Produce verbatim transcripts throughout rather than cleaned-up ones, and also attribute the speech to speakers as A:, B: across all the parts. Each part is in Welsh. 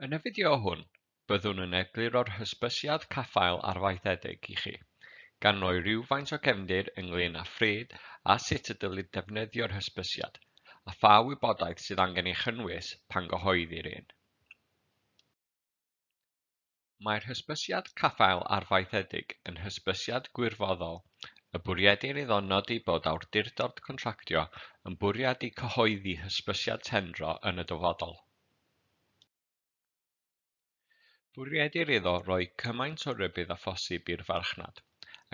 A: Yn y fideo hwn, byddwn yn egluro'r hysbysiad caffael arfaethedig i chi, gan roi rhywfaint o gefndir ynglŷn â phryd a sut y dylid defnyddio'r hysbysiad, a pha wybodaeth sydd angen ei chynnwys pan gyhoeddir un. Mae'r hysbysiad caffael arfaethedig yn hysbysiad gwirfoddol y bwriedir iddo nodi bod awdurdod contractio yn bwriadu cyhoeddi hysbysiad tendro yn y dyfodol. Bwriedir iddo roi cymaint o rybudd â phosib i'r farchnad,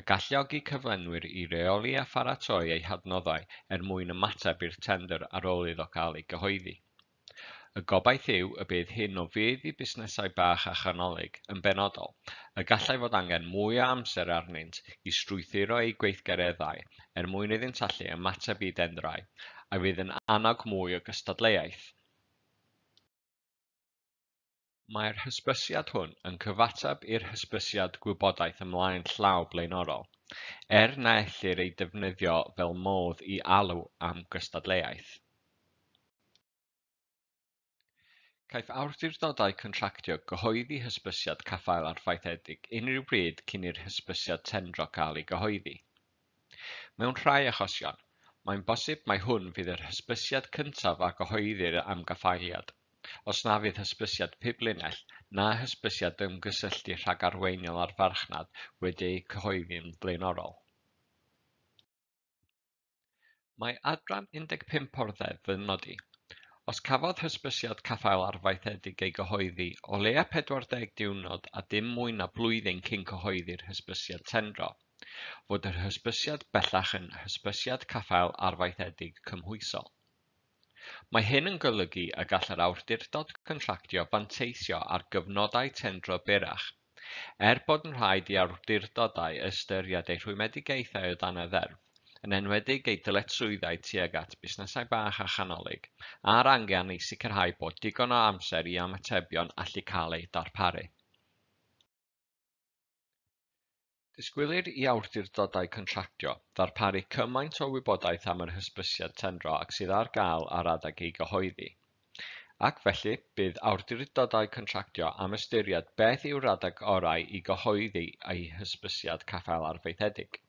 A: a galluogi cyflenwyr i reoli a pharatoi eu hadnoddau er mwyn ymateb i'r tendr ar ôl iddo gael ei gyhoeddi. Y gobaith yw y bydd hyn o fudd i busnesau bach a chanolig, yn benodol, y gallai fod angen mwy o amser arnynt i strwythuro eu gweithgareddau er mwyn iddynt allu ymateb i dendrau, a fydd yn annog mwy o gystadleuaeth. Mae'r hysbysiad hwn yn cyfateb i'r hysbysiad gwybodaeth ymlaen llaw blaenorol, er na ellir ei defnyddio fel modd i alw am gystadleuaeth. Caiff awdurdodau contractio gyhoeddi hysbysiad caffael arfaethedig unrhyw bryd cyn i'r hysbysiad tendro gael ei gyhoeddi. Mewn rhai achosion, mae'n bosib mai hwn fydd yr hysbysiad cyntaf a gyhoeddir am gaffaeliad, os na fydd hysbysiad piblinell na hysbysiad ymgysylltu rhagarweiniol â'r farchnad wedi'u cyhoeddi'n flaenorol. Mae adran un deg pump o'r Ddeddf yn nodi, os cafodd hysbysiad caffael arfaethedig ei gyhoeddi o leia pedwar deg diwrnod a dim mwy na blwyddyn cyn cyhoeddi'r hysbysiad tendro, fod yr hysbysiad bellach yn hysbysiad caffael arfaethedig cymhwysol. Mae hyn yn golygu y gall yr awdurdod contractio fanteisio ar gyfnodau tendro byrrach, er bod yn rhaid i awdurdodau ystyried eu rhwymedigaethau o dan y Ddeddf, yn enwedig eu dyletswyddau tuag at busnesau bach a chanolig, a'r angen i sicrhau bod digon o amser i ymatebion allu cael eu darparu. Disgwylir i awdurdodau contractio ddarparu cymaint o wybodaeth am yr hysbysiad tendro ag sydd ar gael ar adeg ei gyhoeddi, ac felly bydd awdurdodau contractio am ystyried beth yw'r adeg orau i gyhoeddi eu hysbysiad caffael arfaethedig.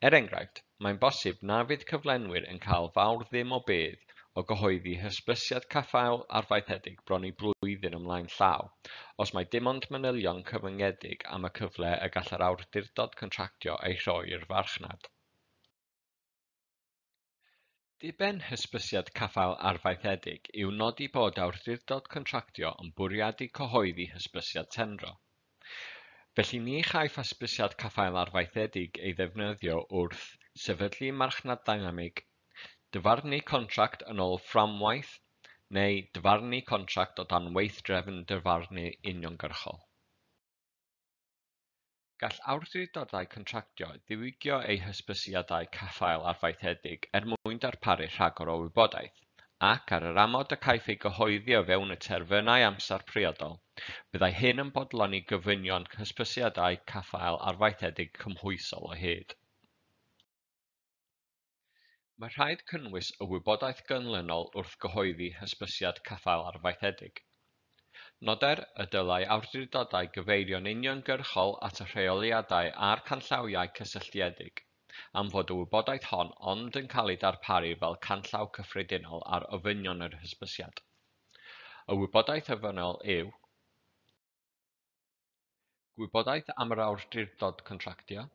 A: Er enghraifft, mae'n bosib na fydd cyflenwyr yn cael fawr ddim o budd o gyhoeddi hysbysiad caffael arfaethedig bron i blwyddyn ymlaen llaw, os mae dim ond manylion cyfyngedig am y cyfle y gall yr awdurdod contractio ei rhoi i'r farchnad. Diben hysbysiad caffael arfaethedig yw nodi bod awdurdod contractio yn bwriadu cyhoeddi hysbysiad tendro. Felly ni chaiff hysbysiad caffael arfaethedig ei ddefnyddio wrth sefydlu marchnad ddynamig, dyfarnu contract yn ôl fframwaith neu dyfarnu contract o dan weithdrefn dyfarnu uniongyrchol. Gall awdurdodau contractio ddiwygio eu hysbysiadau caffael arfaethedig er mwyn darparu rhagor o wybodaeth, ac ar yr amod y caiff ei gyhoeddi o fewn y terfynau amser priodol, byddai hyn yn bodloni gofynion hysbysiadau caffael arfaethedig cymhwysol o hyd. Mae rhaid cynnwys y wybodaeth ganlynol wrth gyhoeddi hysbysiad caffael arfaethedig. Noder y dylai awdurdodau gyfeirio'n uniongyrchol at y rheoliadau a'r canllawiau cysylltiedig, am fod y wybodaeth hon ond yn cael ei darparu fel canllaw cyffredinol ar ofynion yr hysbysiad. Y wybodaeth ofynnol yw gwybodaeth am yr awdurdod contractio,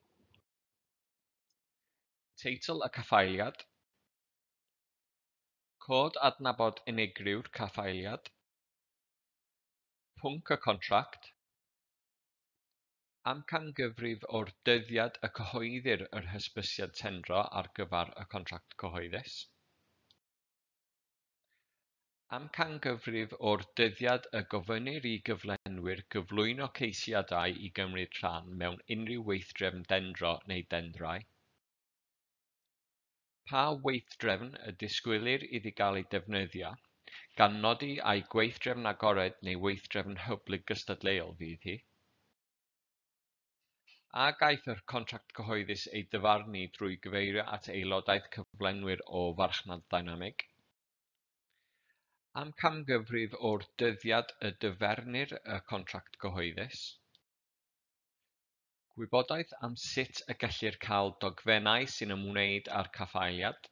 A: teitl y caffaeliad, cod adnabod unigryw'r caffaeliad, pwnc y contract, amcangyfrif o'r dyddiad y cyhoeddir yr hysbysiad tendro ar gyfer y contract cyhoeddus, amcangyfrif o'r dyddiad y gofynnir i gyflenwyr gyflwyno ceisiadau i gymryd rhan mewn unrhyw weithdrefn dendro neu dendrau, pa weithdrefn y disgwylir iddi gael ei defnyddio, gan nodi ai gweithdrefn agored neu weithdrefn hyblyg gystadleuol fydd hi, a gaiff y contract cyhoeddus ei ddyfarnu drwy gyfeirio at aelodaeth cyflenwyr o farchnad ddynamig, Amcangyfrif o'r dyddiad y dyfernir y contract cyhoeddus. Gwybodaeth am sut y gellir cael dogfennau sy'n ymwneud â'r caffaeliad.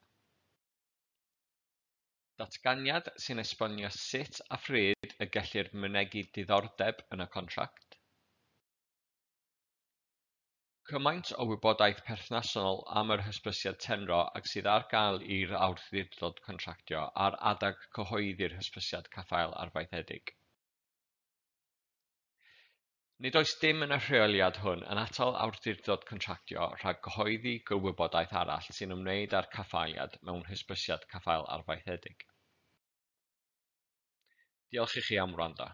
A: Datganiad sy'n esbonio sut a phryd y gellir mynegi diddordeb yn y contract. Cymaint o wybodaeth perthnasol am yr hysbysiad tendro ag sydd ar gael i'r awdurdod contractio ar adeg cyhoeddi'r hysbysiad caffael arfaethedig. Nid oes dim yn y rheoliad hwn yn atal awdurdod contractio rhag cyhoeddi gwybodaeth arall sy'n ymwneud â'r caffaeliad mewn hysbysiad caffael arfaethedig. Diolch i chi am wrando.